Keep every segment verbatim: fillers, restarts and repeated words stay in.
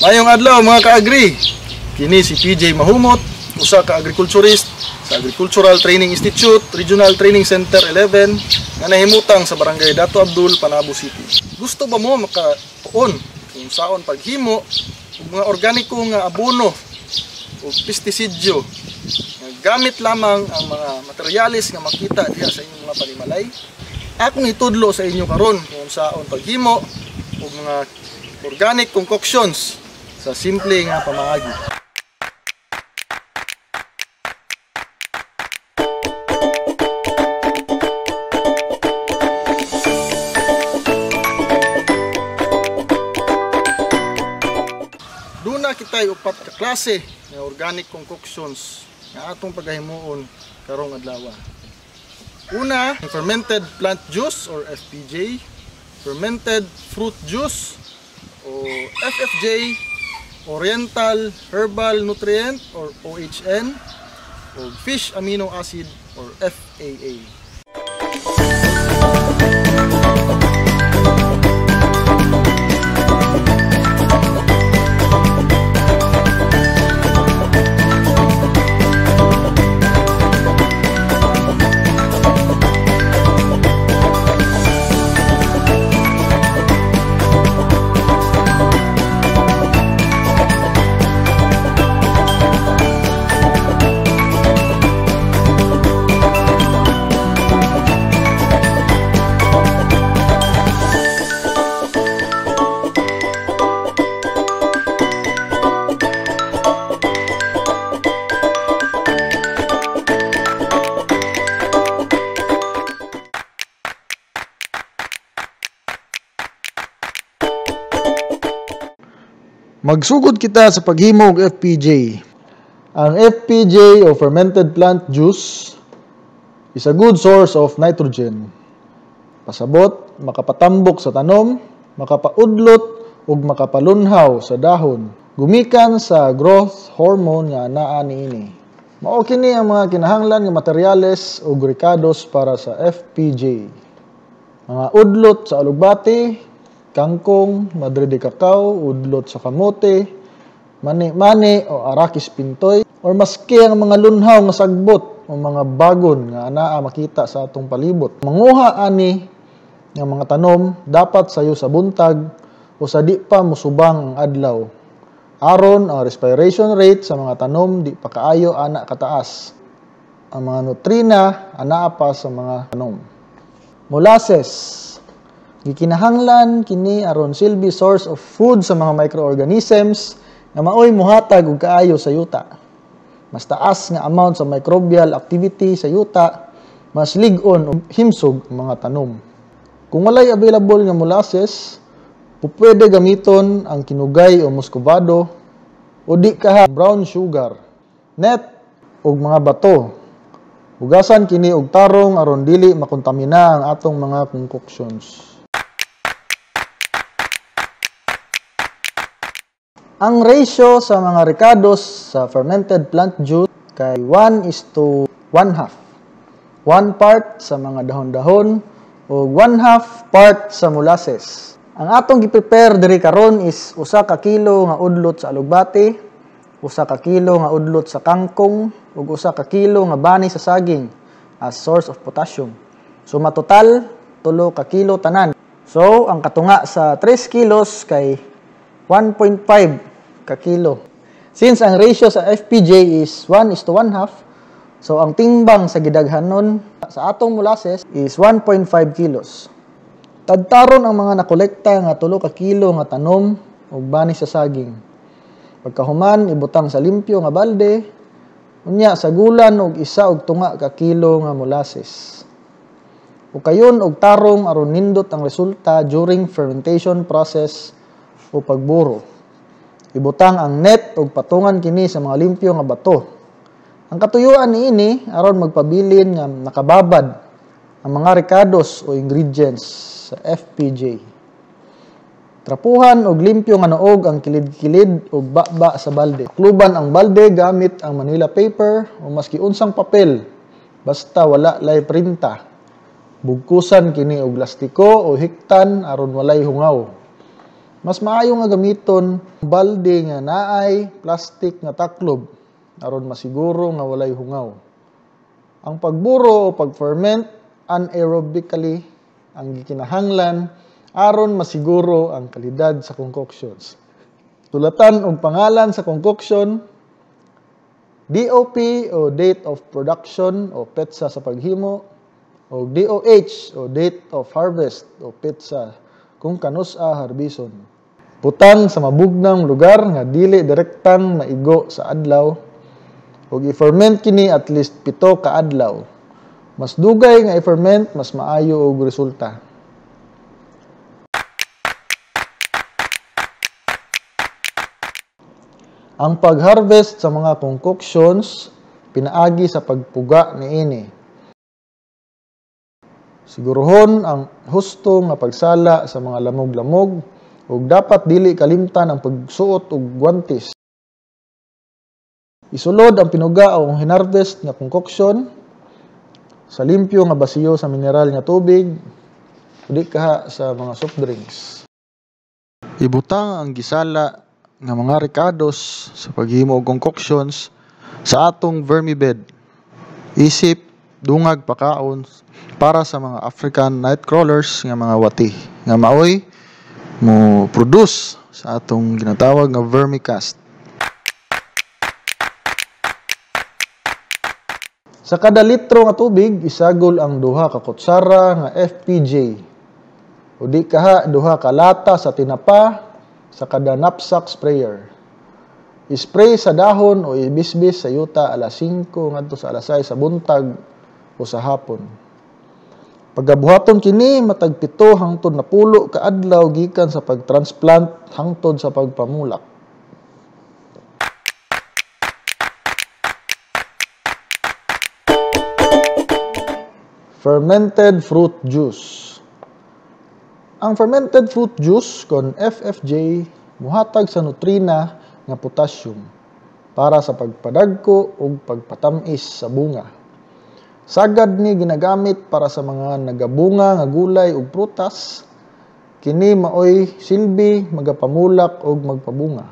Mayong adlaw mga ka-agri. Kini si P J Mahumot, usa ka agriculturist sa Agricultural Training Institute, Regional Training Center eleven nga nahimutang sa Barangay Dato Abdul, Panabo City. Gusto ba mo makatuon kung saon paghimo og mga organiko nga abono o pestisidyo nga gamit lamang ang mga materyales nga makita diha sa inyong mga panimalay? Akong itudlo sa inyo karon kung saon paghimo og mga organic concoctions sa simple nga pamaagi. Duna kitay upat ka klase nga organic concoctions nga atong pagahimuon karong adlaw. Una, fermented plant juice or F P J, fermented fruit juice o F F J, Oriental Herbal Nutrient or O H N, o Fish Amino Acid or F A A. Magsugod kita sa paghimo og F P J. Ang F P J o fermented plant juice is a good source of nitrogen. Pasabot, makapatambok sa tanom, makapaudlot ug makapalunhaw sa dahon. Gumikan sa growth hormone nga naa niini. Mao kini ang mga kinahanglan nga materyales ug rekados para sa F P J. Mga udlot sa alugbati, kangkong, madre de cacao, udlot sa kamote, mani-mani o arakis pintoy, or maski ang mga lunhaw nga sagbot o mga bagon nga anaa makita sa atong palibot. Manguha ani nga mga tanom dapat sayo sa buntag o sa di pa musubang ang adlaw. Aron ang respiration rate sa mga tanom di pa kaayo ana kataas. Ang mga nutrina anaa pa sa mga tanom. Molasses. Gikinahanglan kini aron silbi source of food sa mga microorganisms nga maoy muhatag og kaayo sa yuta. Mas taas nga amount sa microbial activity sa yuta, mas lig-on og himsog ang mga tanom. Kung walay available nga molasses, pupwede gamiton ang kinugay o muscovado o di kaha brown sugar, net og mga bato. Hugasan kini og tarong aron dili makontamina ang atong mga concoctions. Ang ratio sa mga rekados sa fermented plant juice kay one is to one half. One part sa mga dahon-dahon o one half part sa molasses. Ang atong gi-prepare diri karon is usa ka kilo nga udlot sa alugbati, usa ka kilo nga udlot sa kangkong, ug usa ka kilo nga bani sa saging as source of potassium. So matotal tulo ka kilo tanan. So ang katunga sa tres kilos kay one point five ka kilo. Since ang ratio sa F P J is one is to one half, so ang timbang sa gidaghanon sa atong molasses is one point five kilos. Tadtaron ang mga nakolekta nga tulo ka kilo nga tanom ug bani sa saging. Pagkahuman, ibutang sa limpyo nga balde, unya sagulan og isa og tunga ka kilo nga molasses. O kayon og tarong aron nindot ang resulta during fermentation process o pagburo. Ibutang ang net og patungan kini sa mga limpyo nga bato. Ang katuyuan niini aron magpabilin nga nakababad ang mga rekados o ingredients sa F P J. Trapuhan og limpyo nga noog ang kilid-kilid og baba sa balde. Kluban ang balde gamit ang Manila paper o maski unsang papel basta wala lay printa. Bugkusan kini og lastiko o hiktan aron walay hungaw. Mas maayo nga gamiton balde nga naay plastic nga taklob aron masiguro nga walay hungaw. Ang pagburo o pag-ferment anaerobically ang gikinahanglan aron masiguro ang kalidad sa concoctions. Sulatan og pangalan sa concoction, D O P o date of production o petsa sa paghimo, o D O H o date of harvest o petsa kung kanus-a harbison. Butang sa mabugnang lugar nga dili direktang maigo sa adlaw ug i-ferment kini at least pito ka adlaw. Mas dugay nga i-ferment, mas maayo og resulta. Ang pag-harvest sa mga concoctions pinaagi sa pagpuga niini. Siguruhon ang husto nga pagsala sa mga lamog-lamog ug dapat dili kalimtan ang pagsuot og guwantes. Isulod ang pinuga o hinarvest nga concoction sa limpyo nga basiyo sa mineral nga tubig o di kaha sa mga soft drinks. Ibutang ang gisala nga mga rekados sa paghimo og concoctions sa atong vermibed. Isip dungag pakaon para sa mga African night crawlers nga mga wati nga maoy mo produce sa atong ginatawag nga vermicast. Sa kada litro nga tubig, isagol ang duha ka kutsara nga F P J o di kaha duha ka lata sa tinapa sa kada knapsack sprayer. Ispray sa dahon o ibisbis sa yuta alas singko ngadto sa alas sais sa buntag o sa hapon. Pagabuhaton kini matag pito hangtod napulo ka adlaw gikan sa pagtransplant hangtod sa pagpamulak. Fermented fruit juice. Ang fermented fruit juice kon F F J muhatag sa nutrina nga potassium para sa pagpadagko ug pagpatamis sa bunga. Sagad ni ginagamit para sa mga nagabunga nga gulay ug prutas. Kini maoy silbi magapamulak ug magpabunga.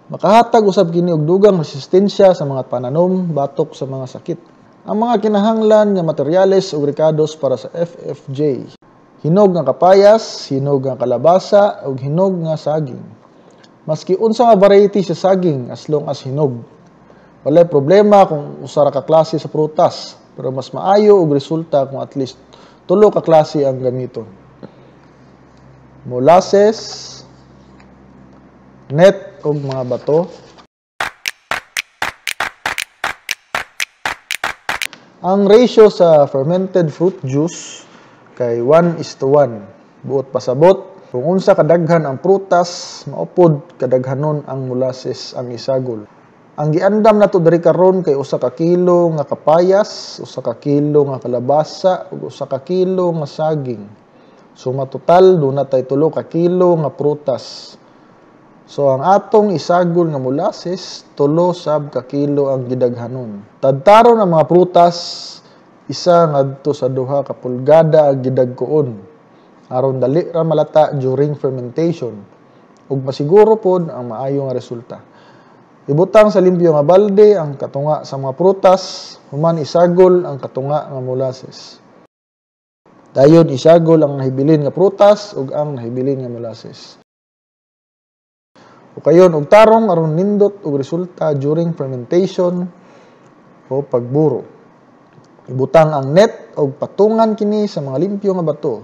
Makahatag usab kini og dugang resistensya sa mga pananom batok sa mga sakit. Ang mga kinahanglan nga materyales ug rekados para sa F F J: hinog nga kapayas, hinog nga kalabasa, ug hinog nga saging. Maski unsa nga variety sa saging as long as hinog. Walay problema kung usa ra ka klase sa prutas, pero mas maayo og resulta kung at least tulo ka klase ang gamiton. Molasses, net ug mga bato. Ang ratio sa fermented fruit juice kay one is to one. Buot pasabot, kung unsa kadaghan ang prutas, maupod kadaghanon ang molasses ang isagol. Ang giandam nato diri karon kay usa ka kilo nga kapayas, usa ka kilo nga kalabasa ug usa ka kilo nga saging. Suma total duna tay tulo ka kilo nga prutas. So ang atong isagol nga molasses, tulo sab ka kilo ang gidaghanon. Tadtaron ang mga prutas, isa ngadto sa duha ka pulgada ang gidagkoon aron dali ra malata during fermentation ug masiguro pod ang maayo nga resulta. Ibutang sa limpyo nga balde ang katunga sa mga prutas, human isagol ang katunga nga molasses. Dayon isagol ang nahibilin nga prutas ug ang nahibilin nga molasses. O kayon og tarong aron nindot og resulta during fermentation o pagburo. Ibutang ang net og patungan kini sa mga limpyo nga bato.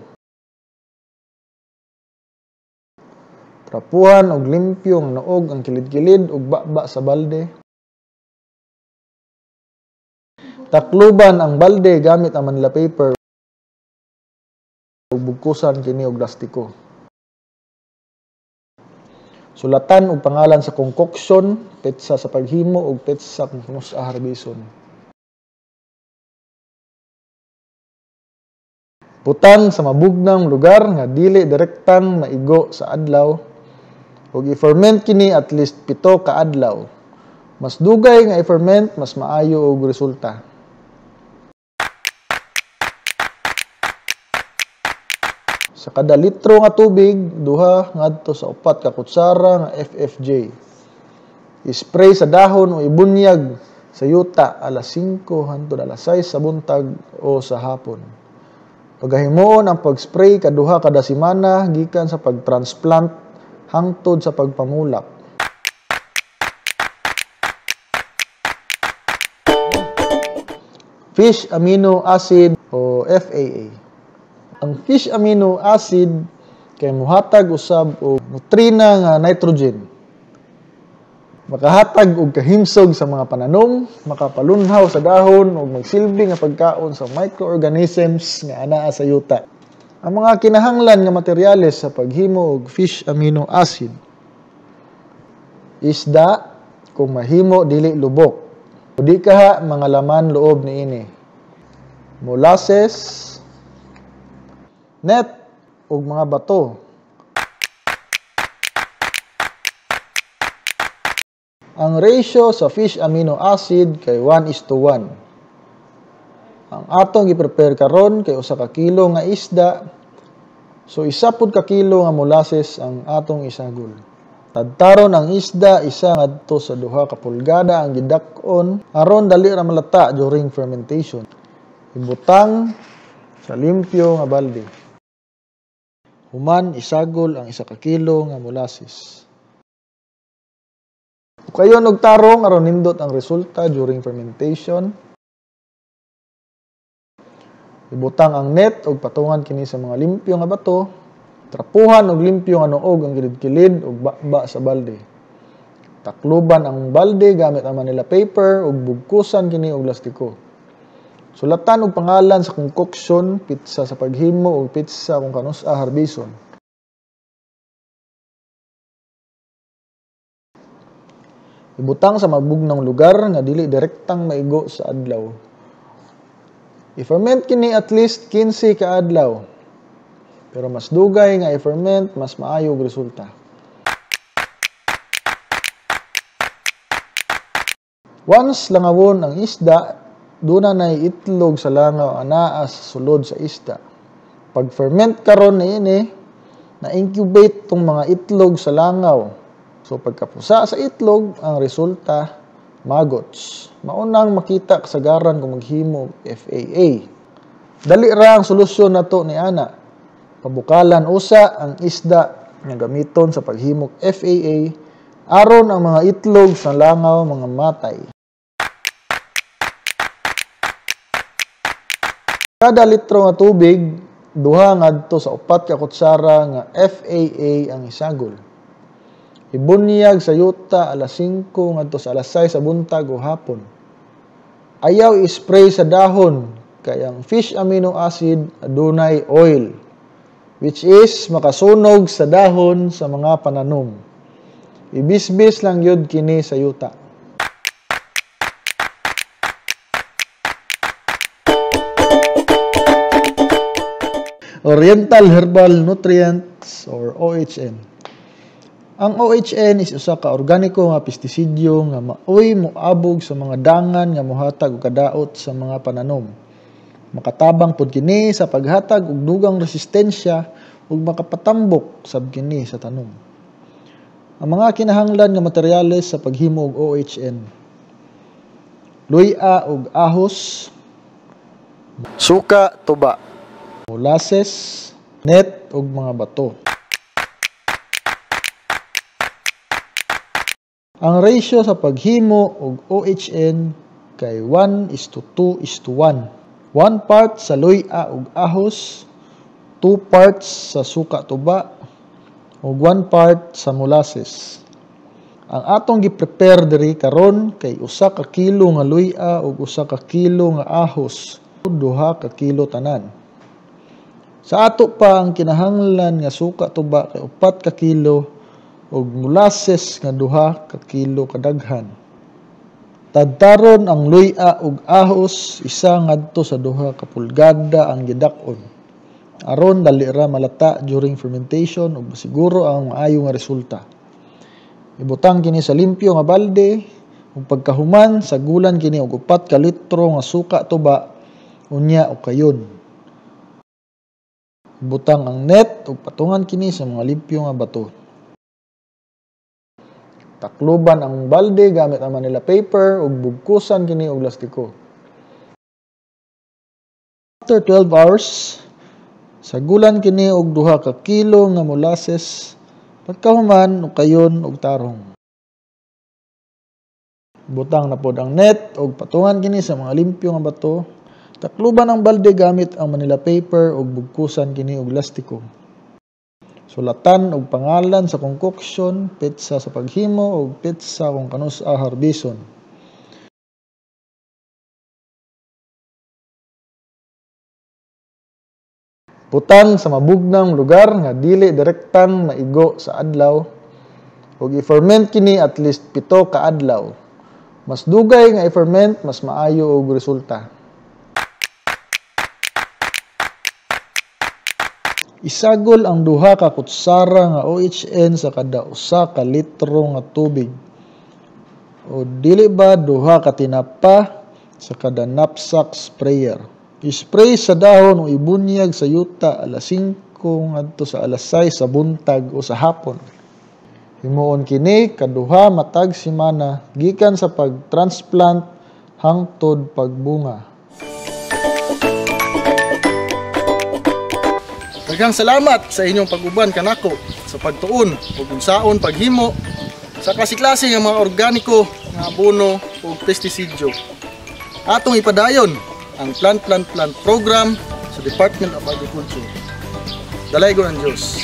Trapuhan og limpyo nga noog ang kilid-kilid ug baba sa balde. Takluban ang balde gamit ang Manila paper ug bugkusan kini og lastiko. Sulatan og pangalan sa concoction, petsa sa paghimo ug petsa kung kanus-a harbison. Butang sa mabugnang lugar nga dili direktang maigo sa adlaw ug i-ferment kini at least pito ka adlaw. Mas dugay nga i-ferment, mas maayo og resulta. Sa kada litro nga tubig, duha ngadto sa upat ka kutsara nga F F J. I-spray sa dahon o ibunyag sa yuta alas singko hangtod alas sais sa buntag o sa hapon. Pagahimuon ang pag-spray kaduha kada semana gikan sa pag-transplant hangtod sa pagpamulak. Fish amino acid o F A A. Ang fish amino acid kay muhatag usab og nutrina nga nitrogen. Makahatag og kahimsog sa mga pananom, makapalunhaw sa dahon ug magsilbi nga pagkaon sa microorganisms nga anaa sa yuta. Ang mga kinahanglan nga materyales sa paghimo og fish amino acid: isda, kung mahimo dili lubok, o di kaha mga laman loob niini, molasses, net ug mga bato. Ang ratio sa fish amino acid kay one is to one. Ang atong gi-prepare karon kay usa ka kilo nga isda, so isa pud ka kilo nga molasses ang atong isagol. Tadtaron ang isda isa ngadto sa duha ka pulgada ang gidak-on aron dali ra malata during fermentation. Ibutang sa limpyo nga balde. Human isagol ang isa ka kilo nga molasses. Ukayon og tarong aron nindot ang resulta during fermentation. Ibutang ang net og patungan kini sa mga limpyo nga bato. Trapuhan og limpyo nga nuog ang kilid-kilid og baba sa balde. Takluban ang balde gamit ang Manila paper ug bugkusan kini og lastiko. Sulatan og pangalan sa concoction, pitsa sa paghimo ug pitsa kung kanus-a harbison. Ibutang sa mabugnong lugar nga dili direktang maigo sa adlaw. I-ferment kini at least kinse ka adlaw. Pero mas dugay nga i-ferment, mas maayo og resulta. Once langawon ang isda, duna nay itlog sa langaw anaa sa sulod sa isda. Pag-ferment karon niini, na-incubate tong mga itlog sa langaw. So pagkapusa sa itlog, ang resulta maggots. Maunang makita kasagaran kung maghimo F A A. Dali ra ang solusyon nato ni ana. Pabukalan usa ang isda nga gamiton sa paghimog F A A aron ang mga itlog sa langaw mga matay. Kada litro nga tubig, duha ngadto sa upat ka kutsara nga F A A ang isagol. Ibunyag sa yuta alas singko ngadto sa alas sais sa buntag o hapon. Ayaw i-spray sa dahon kay ang fish amino acid adunay oil, which is makasunog sa dahon sa mga pananom. Ibisbis lang yun kini sa yuta. Oriental Herbal Nutrients or O H N. Ang O H N is usa ka organiko nga pestisidyo nga maoy moabog sa mga dangan nga mohatag og kadaot sa mga pananom. Makatabang pod kini sa paghatag og dugang resistensya ug makapatambok sab kini sa tanom. Ang mga kinahanglan nga materyales sa paghimo og O H N: luya ug ahos, suka, tuba, molasses, net ug mga bato. Ang ratio sa paghimo og O H N kay one is to two is to one. one part sa luya ug ahos, two parts sa suka tuba, ug one part sa molasses. Ang atong gi-prepare diri karon kay usa ka kilo nga luya ug usa ka kilo nga ahos, duha ka kilo tanan. Sa ato pa ang kinahanglan nga suka tuba kay upat ka kilo ug molasses nga duha ka kilo kadaghan. Tadtaron ang luya ug ahos isa ngadto sa duha ka pulgada ang gidak-on aron dali ra malata during fermentation ug masiguro ang maayo nga resulta. Ibutang kini sa limpyo nga balde ug pagkahuman sagulan kini og upat ka litro nga suka tuba unya o kayon. Butang ang net ug patungan kini sa mga limpyo nga bato. Takluban ang balde gamit ang Manila paper ug bugkusan kini og lastiko. After twelve hours, sagulan kini og duha ka kilo nga molasses, pagkahuman ukayon og tarong. Butang na pod ang net ug patungan kini sa mga limpyo nga bato. Takluban ang balde gamit ang Manila paper ug bugkusan kini og lastiko. Sulatan og pangalan sa concoction, petsa sa paghimo ug petsa kung kanus-a harbison. Butang sa mabugnang lugar nga dili direktang maigo sa adlaw ug i-ferment kini at least pito ka adlaw. Mas dugay nga i-ferment, mas maayo og resulta. Isagol ang duha ka kutsara nga O H N sa kada usa ka litro nga tubig. O dili ba duha ka tinapa sa kada knapsack sprayer. I-spray sa dahon o ibunyag sa yuta alas singko ngadto sa alas sais sa buntag o sa hapon. Himuon kini kaduha matag semana gikan sa pag-transplant hangtod pagbunga. Daghang salamat sa inyong pag-uban kanako sa pagtuon ug unsaon paghimo sa klase-klase nga mga organiko nga abono ug pestisidyo. Atong ipadayon ang Plant Plant Plant program sa Department of Agriculture. Dalaygon ang Diyos.